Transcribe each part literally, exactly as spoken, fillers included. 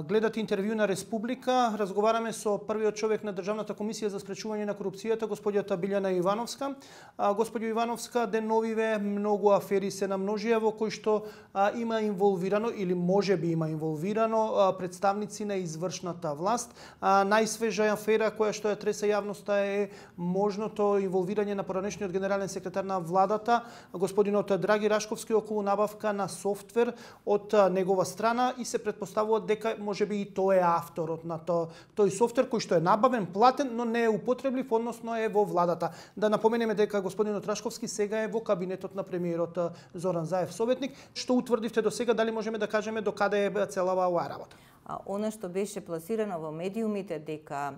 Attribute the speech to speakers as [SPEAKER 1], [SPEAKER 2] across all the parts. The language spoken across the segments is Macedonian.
[SPEAKER 1] Гледате интервју на Республика, разговараме со првиот човек на Државната комисија за спречување на корупцијата, господјата Билјана Ивановска. Господјо Ивановска, деновиве многу афери се намножија во кои што а, има инволвирано или може би има инволвирано а, представници на извршната власт. А, најсвежа афера која што ја треса јавноста е можното инволвирање на поранешниот генерален секретар на владата, господинот Драги Рашковски, околу набавка на софтвер од а, негова страна и се претпоставува дека може би и тој е авторот на то, тој софтвер кој што е набавен, платен, но не е употреблив, односно е во владата. Да напоменеме дека господинот Рашковски сега е во кабинетот на премиерот Зоран Заев советник. Што утврдивте до сега, дали можеме да кажеме до каде е целава оваа работа?
[SPEAKER 2] А, она што беше пласирано во медиумите дека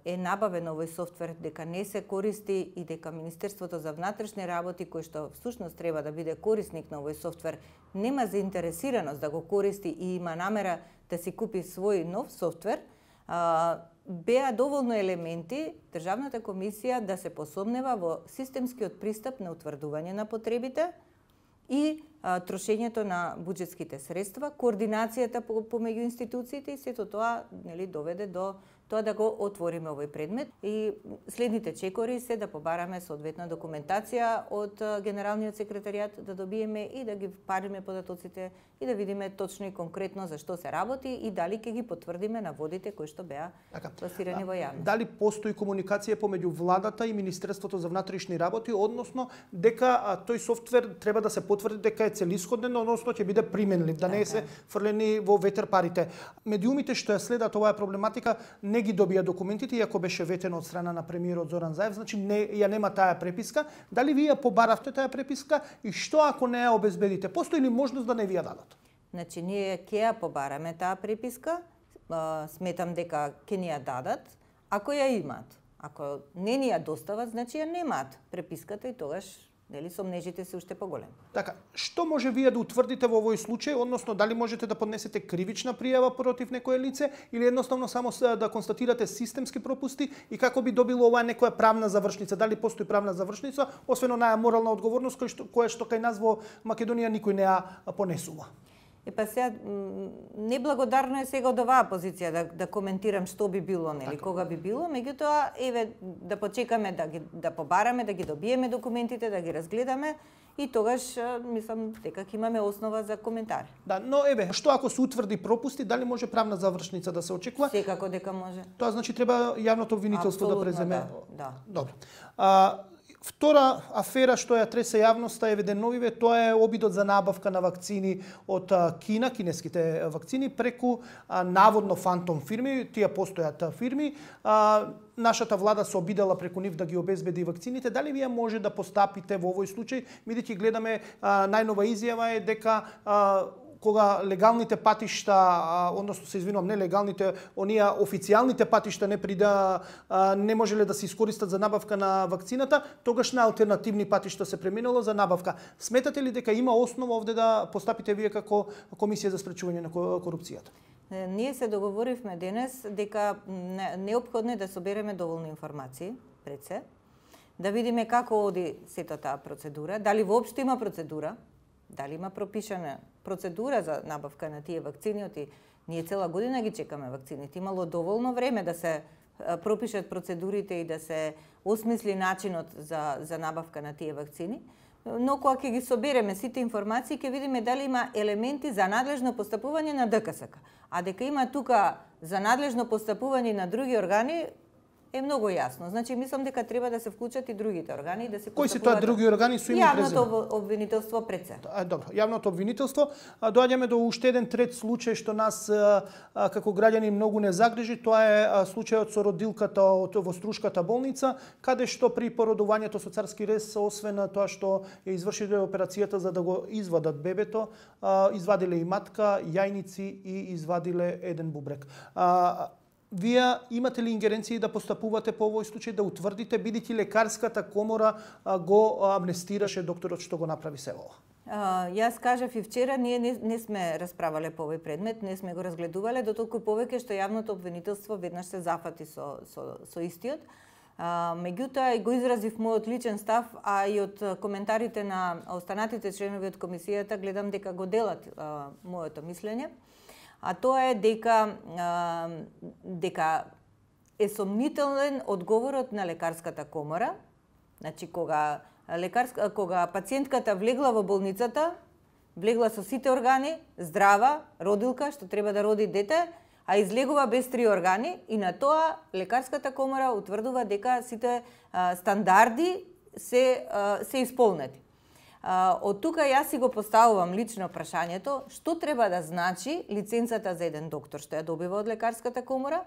[SPEAKER 2] е набавен овој софтвер, дека не се користи и дека Министерството за внатрешни работи, кој што всушност треба да биде корисник на овој софтвер, нема заинтересираност да го користи и има намера да си купи свој нов софтвер, беа доволно елементи Државната комисија да се посомнева во системскиот пристап на утврдување на потребите и а, трошењето на буџетските средства, координацијата помеѓу институциите и сето тоа нели доведе до тоа да го отвориме овој предмет и следните чекори се да побараме соодветна документација од генералниот секретаријат, да добиеме и да ги париме податоците и да видиме точно и конкретно за што се работи и дали ќе ги потврдиме наводите кои што беа пласирани во јавност.
[SPEAKER 1] Дали постои комуникација помеѓу владата и Министерството за внатрешни работи, односно дека а, тој софтвер треба да се потврди дека е целисходен, односно ќе биде применлив, да не се фрлени во ветер парите. Медиумите што ја следат оваа проблематика не ги добија документите, иако беше ветено од страна на премиерот Зоран Заев, значи не, ја нема таа преписка. Дали вие побаравте таа преписка и што ако не ја обезбедите? Постои ли можност да не ви ја дадат?
[SPEAKER 2] Значи, ние ќе ја побараме таа преписка, сметам дека ќе ни ја дадат, ако ја имаат. Ако не ни ја достават, значи ја немаат преписката и тогаш нели сомнежите се уште поголеми.
[SPEAKER 1] Така, што може вие да утврдите во овој случај, односно дали можете да поднесете кривична пријава против некое лице или едноставно само да констатирате системски пропусти и како би добило оваа некоја правна завршница? Дали постои правна завршница, освен онаја морална одговорност која што, која што кај нас во Македонија никој не ја понесува?
[SPEAKER 2] Е па сега неблагодарно е сега од оваа позиција да, да коментирам што би било, нели, кога би било, меѓутоа еве да почекаме да ги да побараме, да ги добиеме документите, да ги разгледаме и тогаш мислам дека ќе имаме основа за коментари.
[SPEAKER 1] Да, но еве, што ако се утврди пропусти, дали може правна завршница да се очекува?
[SPEAKER 2] Секако дека може.
[SPEAKER 1] Тоа значи треба јавното обвинителство да преземе.
[SPEAKER 2] Да, да.
[SPEAKER 1] Добро. А, Втора афера што ја тресе јавноста е деновиве, тоа е обидот за набавка на вакцини од Кина, кинеските вакцини, преку а, наводно фантом фирми, тие постојат фирми. А, нашата влада се обидела преку нив да ги обезбеди вакцините. Дали вие може да постапите во овој случај? Бидејќи гледаме а, најнова изјава е дека а, кога легалните патишта, односно се извинувам, нелегалните, оние официјалните патишта не прида не можеле да се искористат за набавка на вакцината, тогаш на алтернативни патишта се преминало за набавка. Сметате ли дека има основа овде да постапите вие како Комисија за спречување на корупцијата?
[SPEAKER 2] Ние се договоривме денес дека неопходно е да собереме доволни информации пред се, да видиме како оди сета таа процедура, дали воопшто има процедура, дали има пропишана процедура за набавка на тие вакцини, оти ние цела година ги чекаме вакцините. Имало доволно време да се пропишат процедурите и да се осмисли начинот за, за набавка на тие вакцини. Но кога ќе ги собереме сите информации, ќе видиме дали има елементи за надлежно постапување на ДКСК. А дека има тука за надлежно постапување на други органи, е многу јасно. Значи, мислам дека треба да се вклучат и другите органи и да се
[SPEAKER 1] Кои се тоа други органи со име и презиме?
[SPEAKER 2] Јавното обвинителство пред се.
[SPEAKER 1] А, добро, јавното обвинителство. А, доаѓаме до уште еден трет случај што нас а, а, како граѓани многу не загрижи. Тоа е а, случајот со родилката од во Струшката болница, каде што при породувањето со царски рез, освен тоа што ја извршиле операцијата за да го извадат бебето, а, извадиле и матка, јајници и извадиле еден бубрек. А, Вие имате ли ингеренции да постапувате по овој случај, да утврдите, бидејќи лекарската комора го амнестираше докторот што го направи село?
[SPEAKER 2] Uh, јас кажав и вчера, ние не, не сме расправале по овој предмет, не сме го разгледувале, дотолку повеќе што јавното обвинителство веднаш се зафати со, со, со истиот. Uh, меѓутоа, го изразив мојот личен став, а и од коментарите на останатите членови од комисијата, гледам дека го делат uh, моето мислење. а тоа е дека а, дека е сомнителен одговорот на лекарската комора. Значи кога лекарска кога пациентката влегла во болницата, влегла со сите органи, здрава, родилка што треба да роди дете, а излегува без три органи и на тоа лекарската комора утврдува дека сите а, стандарди се а, се исполнети. А, од тука јас си го поставувам лично прашањето што треба да значи лиценцата за еден доктор што ја добива од лекарската комора,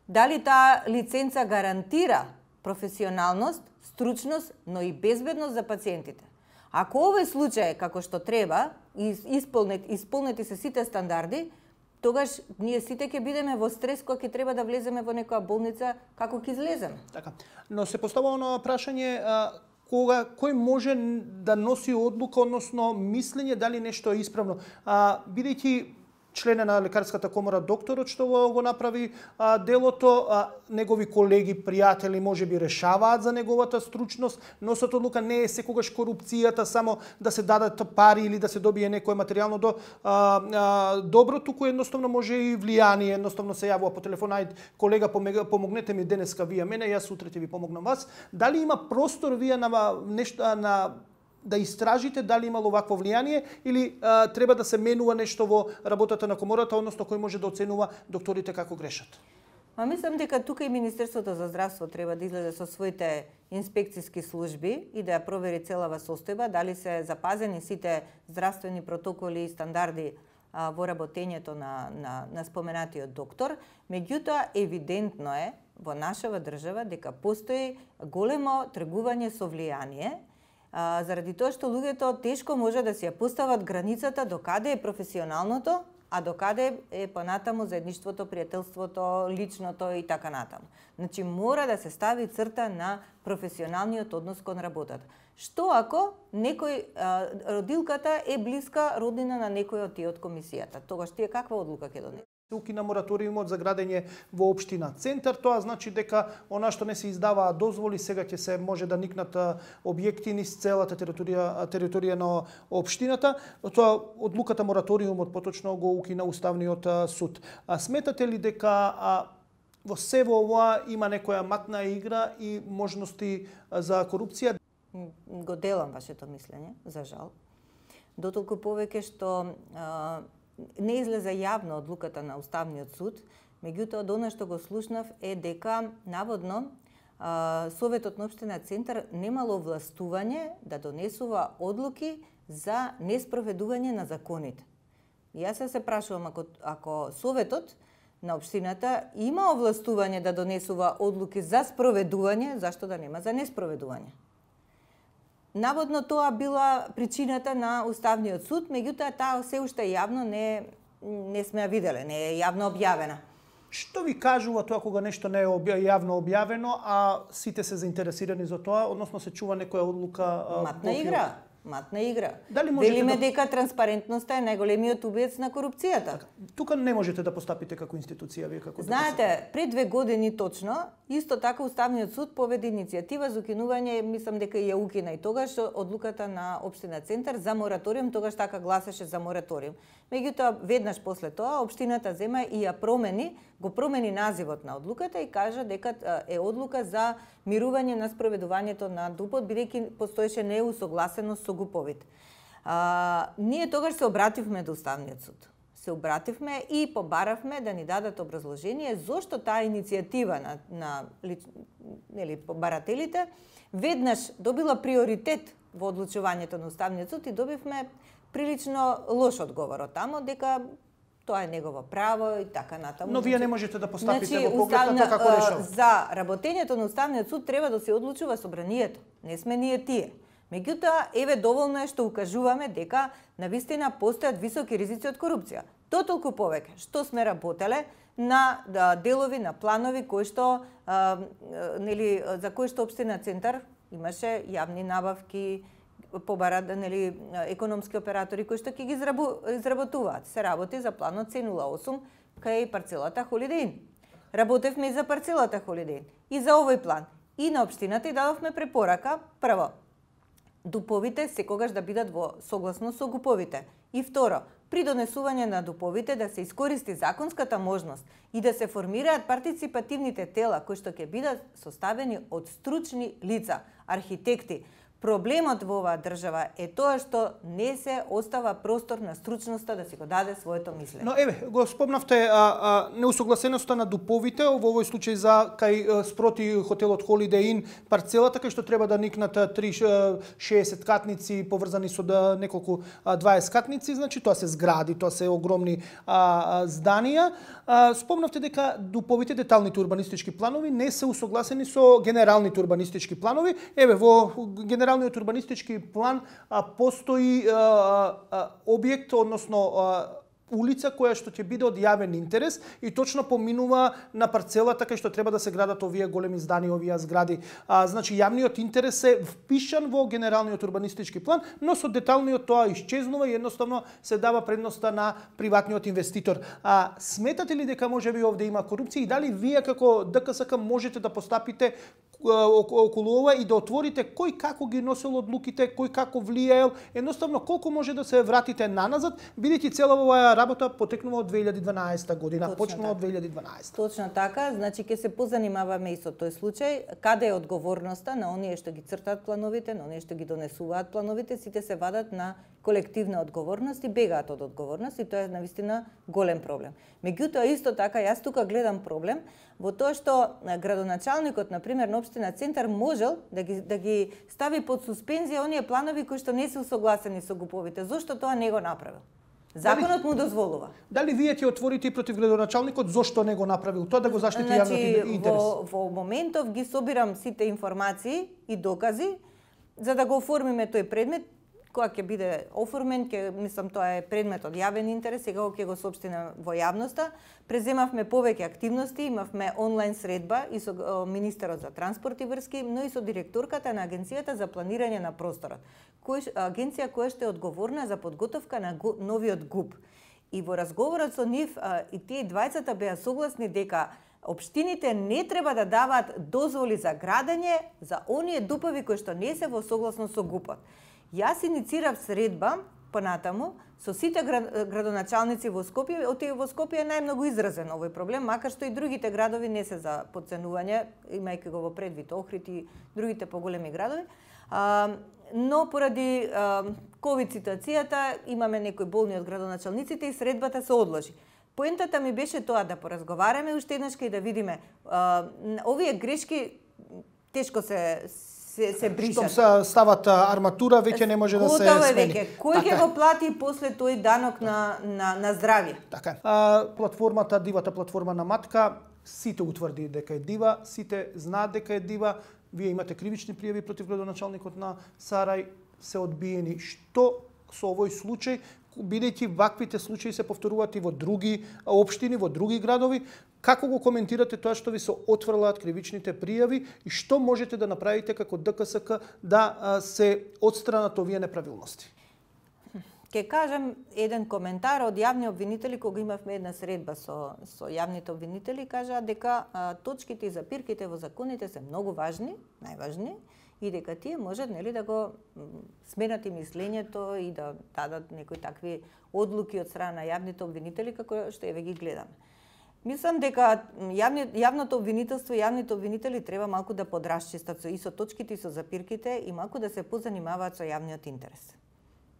[SPEAKER 2] дали таа лиценца гарантира професионалност, стручност, но и безбедност за пациентите. Ако овој случај како што треба, исполнети, исполнети се сите стандарди, тогаш ние сите ќе бидеме во стрес кога ќе треба да влеземе во некоја болница, како ќе излеземе.
[SPEAKER 1] Така. Но се поставува оно прашање а, кога кој може да носи одлука, односно мислење дали нешто е исправно. А, бидејќи член на лекарската комора докторот што го направи а, делото, а, негови колеги, пријатели можеби решаваат за неговата стручност, носат одлука, не е секогаш корупцијата само да се дадат пари или да се добие некое материјално до а, а, добро, туку едноставно може и влијание, едноставно се јавува по телефон, ајде колега помогнете ми денеска вие мене, јас утре ќе ви помогнам вас. Дали има простор вие на нешто на да истражите дали имало вакво влијание или а, треба да се менува нешто во работата на комората, односно кој може да оценува докторите како грешат?
[SPEAKER 2] Ма мислам дека тука и Министерството за здравство треба да излезе со своите инспекциски служби и да ја провери целава состојба, дали се запазени сите здравствени протоколи и стандарди а, во работењето на, на, на споменатиот доктор. Меѓутоа, евидентно е во нашава држава дека постои големо тргување со влијание, А, заради тоа што луѓето тешко може да си ја постават границата до каде е професионалното, а до каде е понатаму заедништвото, пријателството, личното и така натаму. Значи мора да се стави црта на професионалниот однос кон работата. Што ако некој а, родилката е блиска роднина на некој од тие од комисијата? Тогаш тие каква одлука ќе донесат?
[SPEAKER 1] Укина мораториумот за градење во општина Центар, тоа значи дека она што не се издаваа дозволи сега ќе се може да никнат објекти низ целата територија територија на општината. Тоа одлуката мораториумот поточно го укина Уставниот суд. А сметате ли дека а, во се во ова има некоја матна игра и можности за корупција?
[SPEAKER 2] Го делам вашето мислење, за жал. Дотолку повеќе што а, не излезе јавно одлуката на Уставниот суд, меѓутоа од она што го слушнав е дека наводно а, Советот на општина Центар немало властување да донесува одлуки за неспроведување на законите. Јас се прашувам, ако, ако Советот на општината има овластување да донесува одлуки за спроведување, зашто да нема за неспроведување? Наводно тоа била причината на Уставниот суд, меѓутоа таа се уште јавно не не сме ја виделе, не е јавно објавена.
[SPEAKER 1] Што ви кажува тоа кога нешто не е јавно објавено, а сите се заинтересирани за тоа, односно се чува некоја одлука?
[SPEAKER 2] Матна игра. Матна игра.
[SPEAKER 1] Дали
[SPEAKER 2] Велиме
[SPEAKER 1] да...
[SPEAKER 2] дека транспарентноста е најголемиот убиец на корупцијата.
[SPEAKER 1] Така, тука не можете да постапите како институција, вие како
[SPEAKER 2] Знаете, пред две години точно, исто така Уставниот суд поведе иницијатива за укинување, мислам дека ја укина и тогаш одлуката на општина Центар за мораториум, тогаш така гласеше за мораториум. Меѓутоа, веднаш после тоа, општината зема и ја промени, го промени називот на одлуката и кажа дека е одлука за мирување на спроведувањето на ДУП-от, бидејќи постоеше неусогласеност со ГУП-овите. А, ние тогаш се обративме до Уставниот суд. Се обративме и побаравме да ни дадат образложение зошто таа иницијатива на, на нели, побарателите веднаш добила приоритет во одлучувањето на Уставниот суд и добивме прилично лош одговор од тамо, дека тоа е негово право и така натаму.
[SPEAKER 1] Но вие не можете да постапите
[SPEAKER 2] значи,
[SPEAKER 1] во поглед на тоа како решава.
[SPEAKER 2] За работењето на Уставниот суд треба да се одлучува собранието. Не сме ние тие. Меѓутоа, еве доволно е што укажуваме дека навистина постојат високи ризици од корупција. Дотолку повеќе што сме работеле на да, делови, на планови кои што а, нели за кои што општина Центар имаше јавни набавки, побара, нели, економски оператори кои што ќе ги изработуваат. Се работи за планот С нула осум кај парцелата Холидеин. Работевме и за парцелата Холидеин. И за овој план. И на општината и дадовме препорака, прво, ДУП-овите секогаш да бидат во согласно со ГУП-овите. И второ, при донесување на дуповите да се искористи законската можност и да се формираат партиципативните тела кои што ќе бидат составени од стручни лица, архитекти. Проблемот во оваа држава е тоа што не се остава простор на стручноста да си го даде своето мислење.
[SPEAKER 1] Но еве, го спомнавте а, а, неусогласеноста на дуповите, во овој случај за кај спроти хотелот Holiday Inn парцелата кај што треба да никнат три шеесет катници поврзани со да, неколку дваесет катници, значи тоа се згради, тоа се огромни а, а, зданија. А, спомнавте дека дуповите, деталните урбанистички планови не се усогласени со генералните урбанистички планови. Еве, во генералниот урбанистички план а, постои а, а, објект, односно а, улица која што ќе биде од јавен интерес и точно поминува на парцелата кај што треба да се градат овие големи здани, овие згради. А, значи јавниот интерес е впишан во генералниот урбанистички план, но со деталниот тоа исчезнува и едноставно се дава предноста на приватниот инвеститор. А сметате ли дека можеби овде има корупција и дали вие како ДКСК можете да постапите околу ова и да отворите кој како ги носел одлуките, кој како влијаел, едноставно колку може да се вратите наназад, бидејќи цела оваа работа потекнува од две илјади и дванаесета година,
[SPEAKER 2] Точно
[SPEAKER 1] почнува
[SPEAKER 2] така.
[SPEAKER 1] од две илјади и дванаесета.
[SPEAKER 2] Точно така, значи ќе се позанимаваме и со тој случај, каде е одговорноста на оние што ги цртаат плановите, на оние што ги донесуваат плановите, сите се вадат на колективна одговорност и бегаат од одговорност и тоа е навистина голем проблем. Меѓутоа исто така јас тука гледам проблем во тоа што градоначалникот на пример на општина Центар можел да ги да ги стави под суспензија оние планови кои што не се усогласени со ГУП-овите. Зошто тоа не го направил? Законот му дозволува.
[SPEAKER 1] Дали вие ќе отворите и против градоначалникот зошто не го направил тоа да го заштити
[SPEAKER 2] значи,
[SPEAKER 1] јавниот интерес?
[SPEAKER 2] Во, во моментов ги собирам сите информации и докази за да го оформиме тој предмет. Кога ќе биде оформен, ќе мислам тоа е предмет од јавен интерес, сега ќе го соопштиме во јавноста. Преземавме повеќе активности, имавме онлайн средба и со министерот за транспорт и врски, но и со директорката на Агенцијата за планирање на просторот, кој агенција која што е одговорна за подготовка на новиот ГУП. И во разговорот со нив и тие двајцата беа согласни дека општините не треба да даваат дозволи за градење за оние дупови кои што не се во согласност со ГУПот. Јас иницирав средба понатаму со сите градоначалници во Скопје, оти во Скопје е најмногу изразен овој проблем, макар што и другите градови не се за подценување, имајќи го во предвид Охрид и другите поголеми градови. А, но поради а, ковид ситуацијата имаме некои болни од градоначалниците и средбата се одложи. Поентата ми беше тоа да поразговараме уште еднаш и да видиме а, овие грешки тешко се се, се бришат.
[SPEAKER 1] Штом се стават арматура, веќе не може да се смени.
[SPEAKER 2] Веќе. Кој ќе го плати после тој данок на, на, на здравје?
[SPEAKER 1] Така. А, платформата, дивата платформа на Матка, сите утврди дека е дива, сите знаат дека е дива, вие имате кривични пријави против градоначалникот на Сарај, се одбиени. Што со овој случај, бидејќи ваквите случаи се повторуваат и во други општини, во други градови, како го коментирате тоа што ви се отфрлаат кривичните пријави и што можете да направите како ДКСК да се отстранат овие неправилности?
[SPEAKER 2] Ке кажам еден коментар од јавни обвинители кога имавме една средба со со јавните обвинители, кажаа дека а, точките и запирките во законите се многу важни, најважни, и дека тие можат нели да го сменат и мислењето и да дадат некои такви одлуки од страна на јавните обвинители како што еве ги гледаме. Мислам дека јавни, јавното обвинителство и јавните обвинители треба малку да подрасчистат и со точките и со запирките и малку да се позанимаваат со јавниот интерес.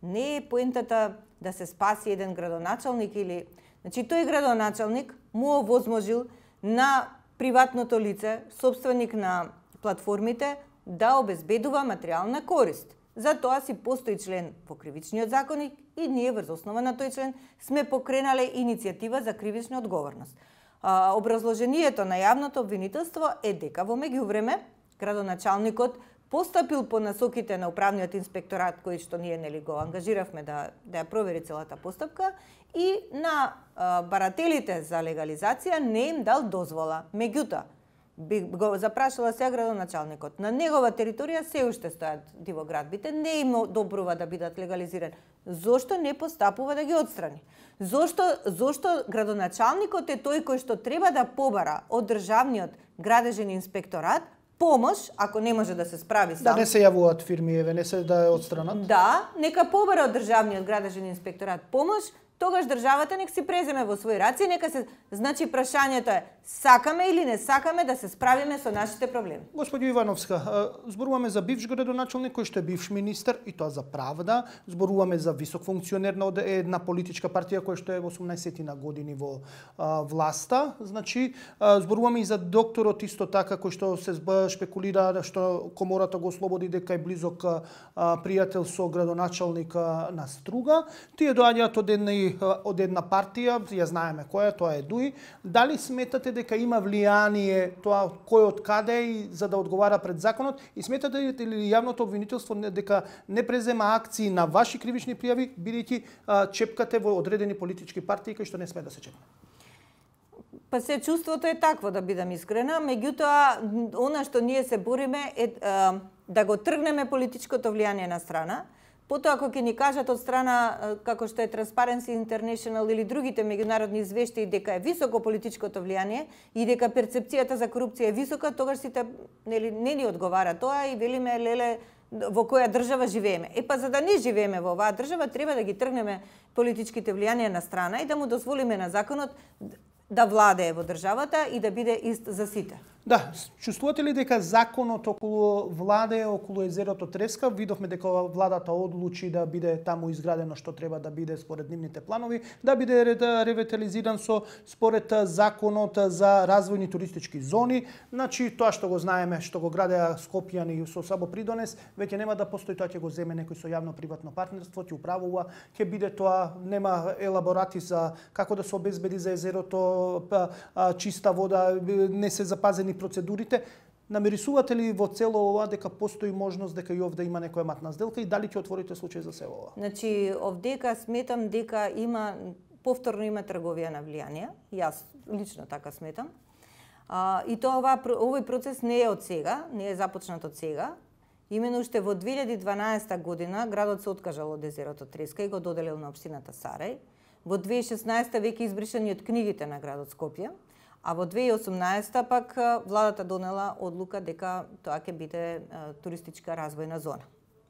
[SPEAKER 2] Не е поентата да се спаси еден градоначалник или... Значи, тој градоначалник му овозможил на приватното лице, собственик на платформите, да обезбедува материјална корист. Затоа си постои член во кривичниот законник и ние врз основа на тој член сме покренале иницијатива за кривична одговорност. А, образложението на јавното обвинителство е дека во меѓувреме градоначалникот постапил по насоките на управниот инспекторат кој што ние нели го ангажиравме да да ја провери целата постапка и на а, барателите за легализација не им дал дозвола. Меѓутоа би го запрашала сега градоначалникот. На негова територија се уште стојат дивоградбите, не им одобрува да бидат легализирани. Зошто не постапува да ги отстрани? Зошто зошто градоначалникот е тој кој што треба да побара од државниот градежен инспекторат помош, ако не може да се справи сам.
[SPEAKER 1] Да не се јавуваат фирми, еве, не се да ја отстранат.
[SPEAKER 2] Да, нека побара од државниот градежен инспекторат помош тогаш државата нек си преземе во своји раце и нека се, значи прашањето е сакаме или не сакаме да се справиме со нашите проблеми.
[SPEAKER 1] Господи Ивановска, зборуваме за бивш градоначалник кој што е бивш министер и тоа за правда, зборуваме за висок функционер на една политичка партија која што е во осумнаесет на години во а, власта, значи а, зборуваме и за докторот исто така кој што се шпекулира што комората го ослободи дека е близок а, пријател со градоначалника на Струга. Тие доаѓаат од една од една партија, ја знаеме која, тоа е ДУИ. Дали сметате дека има влијание тоа кој од каде и за да одговара пред законот и сметате ли јавното обвинителство дека не презема акции на ваши кривични пријави бидејќи чепкате во одредени политички партии кои што не сме да се чепне?
[SPEAKER 2] Па се чувството е такво, да бидам искрена, меѓутоа она што ние се бориме е а, да го тргнеме политичкото влијание на страна. Потоа, ако ќе ни кажат од страна, како што е Transparency International или другите меѓународни извештаи дека е високо политичкото влијание и дека перцепцијата за корупција е висока, тогаш сите нели не ни одговара тоа и велиме леле во која држава живееме. Е па за да не живееме во оваа држава треба да ги тргнеме политичките влијанија на страна и да му дозволиме на законот да владее во државата и да биде ист за сите.
[SPEAKER 1] Да, чувствувате ли дека законот околу владе, околу езерото Треска, видовме дека владата одлучи да биде таму изградено што треба да биде според нивните планови, да биде ревитализиран со според законот за развојни туристички зони, значи тоа што го знаеме, што го градеа Скопјани со Сабо Придонес, веќе нема да постои, тоа ќе го земе некој со јавно-приватно партнерство, ќе управува, ќе биде тоа, нема елаборати за како да се обезбеди за езерото чиста вода, не се запазени процедурите. Намерисувате ли во цело ова дека постои можност дека и овде има некоја матна сделка и дали ќе отворите случај за се ова?
[SPEAKER 2] Значи, овдека сметам дека има повторно има трговија на влијание. Јас лично така сметам. А, и тоа ова, овој процес не е од сега, не е започнат од сега. Имено уште во две илјади и дванаесета година градот се откажал од езерото Треска и го доделил на општината Сарај. Во две илјади и шеснаесета веќе избришани од книгите на градот Скопје. А во две илјади и осумнаесета пак владата донела одлука дека тоа ќе биде а, туристичка развојна зона.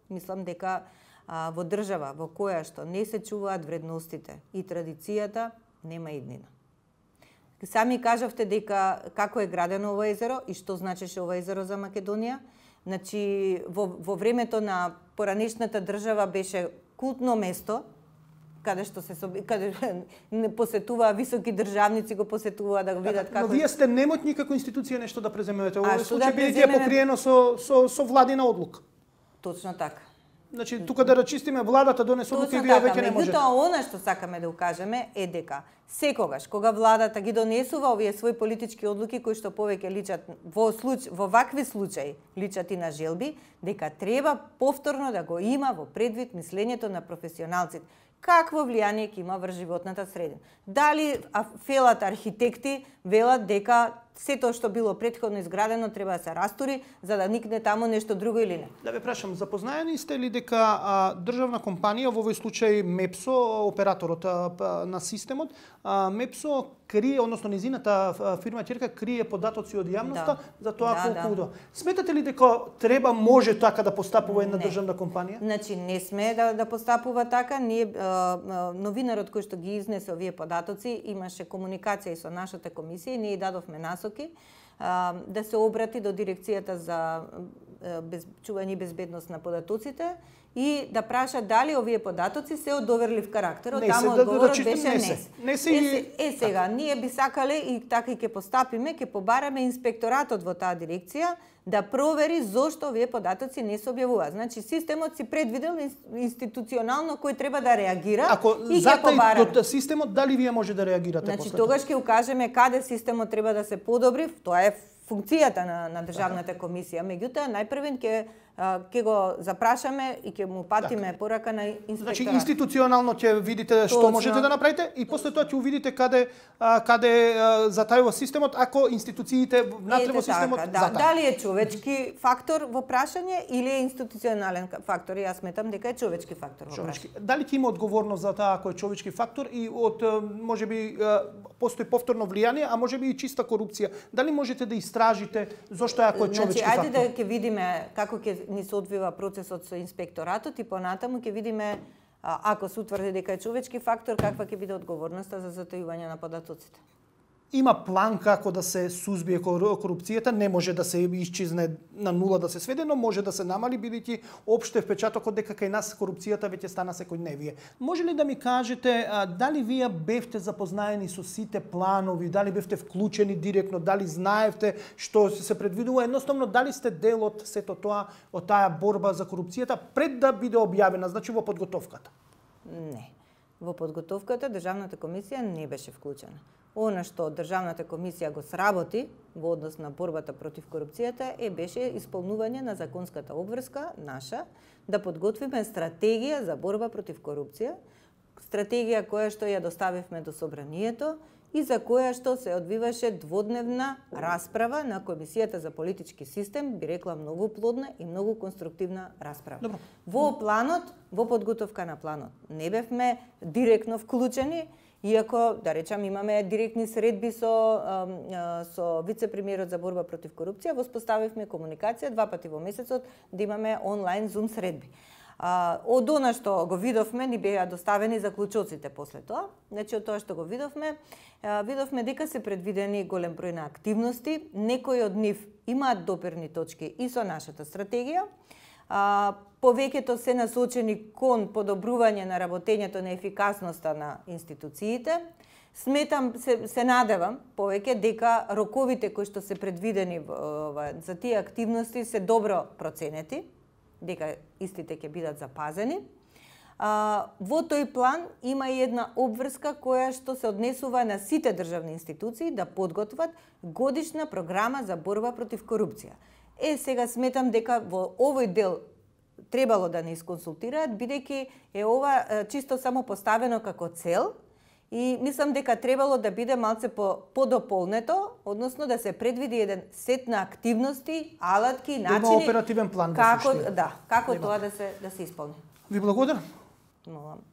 [SPEAKER 2] Мислам дека а, во држава во која што не се чуваат вредностите и традицијата, нема иднина. Сами кажавте дека како е градено ова езеро и што значеше ова езеро за Македонија. Значи, во, во времето на поранешната држава беше култно место, каде што се каде не посетуваа високи државници, го посетуваа да го видат како.
[SPEAKER 1] Но вие сте немотни како институција нешто да преземете. Овој
[SPEAKER 2] да
[SPEAKER 1] случај бидејќи е покриено со со со владина одлука.
[SPEAKER 2] Точно така.
[SPEAKER 1] Значи тука да рачистиме владата донесе одлука и вие
[SPEAKER 2] така,
[SPEAKER 1] веќе не можете.
[SPEAKER 2] Меѓутоа она што сакаме да укажеме е дека секогаш кога владата ги донесува овие своји политички одлуки кои што повеќе личат во случај во вакви случаи личат и на желби, дека треба повторно да го има во предвид мислењето на професионалците. Какво влијание ќе има врз животната средина? Дали фелат архитекти велат дека сето што било претходно изградено треба да се растури за да никне таму нешто друго или не?
[SPEAKER 1] Да ве прашам, запознаени сте ли дека а, државна компанија, во овој случај Мепсо, операторот а, на системот, а, Мепсо крие, односно низината фирма ќерка крие податоци од јавноста
[SPEAKER 2] да.
[SPEAKER 1] за тоа
[SPEAKER 2] да,
[SPEAKER 1] колку
[SPEAKER 2] да.
[SPEAKER 1] удо. Сметате ли дека треба може така да постапува една државна компанија?
[SPEAKER 2] Значи не сме да да постапува така, ние а, новинарот кој што ги изнесе овие податоци имаше комуникација и со нашата комисија и ние дадовме насоки а, да се обрати до дирекцијата за без, чување и безбедност на податоците и да праша дали овие податоци се од доверлив карактер. Од таму одговорот беше не се.
[SPEAKER 1] Не се.
[SPEAKER 2] Е, е сега, ние би сакале и така и ќе постапиме, ќе побараме инспекторатот во таа дирекција да провери зошто овие податоци не се објавуваат. Значи системот си предвидел институционално кој треба да реагира.
[SPEAKER 1] Ако
[SPEAKER 2] и ќе побараме.
[SPEAKER 1] Ако системот дали вие може да реагирате
[SPEAKER 2] значи,
[SPEAKER 1] после
[SPEAKER 2] тоа? Значи тогаш ќе укажеме каде системот треба да се подобри. Тоа е функцијата на, на државната комисија. Меѓутоа најпрвен ќе ќе го запрашаме и ќе му патиме так. Порака на инспекторат.
[SPEAKER 1] Значи институционално ќе видите што
[SPEAKER 2] Точно.
[SPEAKER 1] можете да направите и после тоа ќе увидите каде каде затајува системот ако институциите внатре во системот
[SPEAKER 2] така, да.
[SPEAKER 1] затајуваат.
[SPEAKER 2] Дали е човечки фактор во прашање или е институционален фактор? Јас сметам дека е човечки фактор во
[SPEAKER 1] човечки.
[SPEAKER 2] прашање.
[SPEAKER 1] Дали ќе има одговорност за таа ако е човечки фактор и од можеби постои повторно влијание, а можеби и чиста корупција? Дали можете да истражите зошто е ако е човечки
[SPEAKER 2] значи,
[SPEAKER 1] фактор?
[SPEAKER 2] Значи, ајде да ќе видиме како ќе ни се одвива процесот со инспекторатот и понатаму ќе видиме Ако се утврди дека е човечки фактор, каква ќе биде одговорноста за затојување на податоците?
[SPEAKER 1] Има план како да се сузбие корупцијата, не може да се исчезне на нула да се сведе, но може да се намали, бидејќи опште впечатокот дека кај нас корупцијата веќе стана секојдневие. Може ли да ми кажете а, дали вие бевте запознаени со сите планови, дали бевте вклучени директно, дали знаевте што се предвидува, едноставно дали сте дел од сето тоа, од таа борба за корупцијата пред да биде објавена, значи во подготовката?
[SPEAKER 2] Не. Во подготовката Државната комисија не беше вклучена. Она што Државната комисија го сработи во однос на борбата против корупцијата е беше исполнување на законската обврска наша да подготвиме стратегија за борба против корупција, стратегија која што ја доставивме до собранието и за која што се одвиваше дводневна расправа на Комисијата за политички систем, би рекла многу плодна и многу конструктивна расправа.
[SPEAKER 1] Добро.
[SPEAKER 2] Во планот, во подготовка на планот, не бевме директно вклучени, иако, да речам, имаме директни средби со, со вице-премиерот за борба против корупција, воспоставивме комуникација два пати во месецот да имаме онлайн зум средби. Од она што го видовме, ни беа доставени заклучоците после тоа. Значи, од тоа што го видовме, видовме дека се предвидени голем број на активности, некои од нив имаат доперни точки и со нашата стратегија. Повеќето се насочени кон подобрување на работењето на ефикасноста на институциите. Сметам, се, се надевам повеќе дека роковите кои што се предвидени за тие активности се добро проценети, дека истите ќе бидат запазени. А, во тој план има и една обврска која што се однесува на сите државни институции да подготват годишна програма за борба против корупција. Е, сега сметам дека во овој дел требало да не исконсултираат, бидејќи е ова чисто само поставено како цел и мислам дека требало да биде малце по подополнето, односно да се предвиди еден сет на активности, алатки, начини.
[SPEAKER 1] Има оперативен план
[SPEAKER 2] како,
[SPEAKER 1] да се
[SPEAKER 2] да, како тоа да се да се исполни.
[SPEAKER 1] Ви благодарам.
[SPEAKER 2] Молам.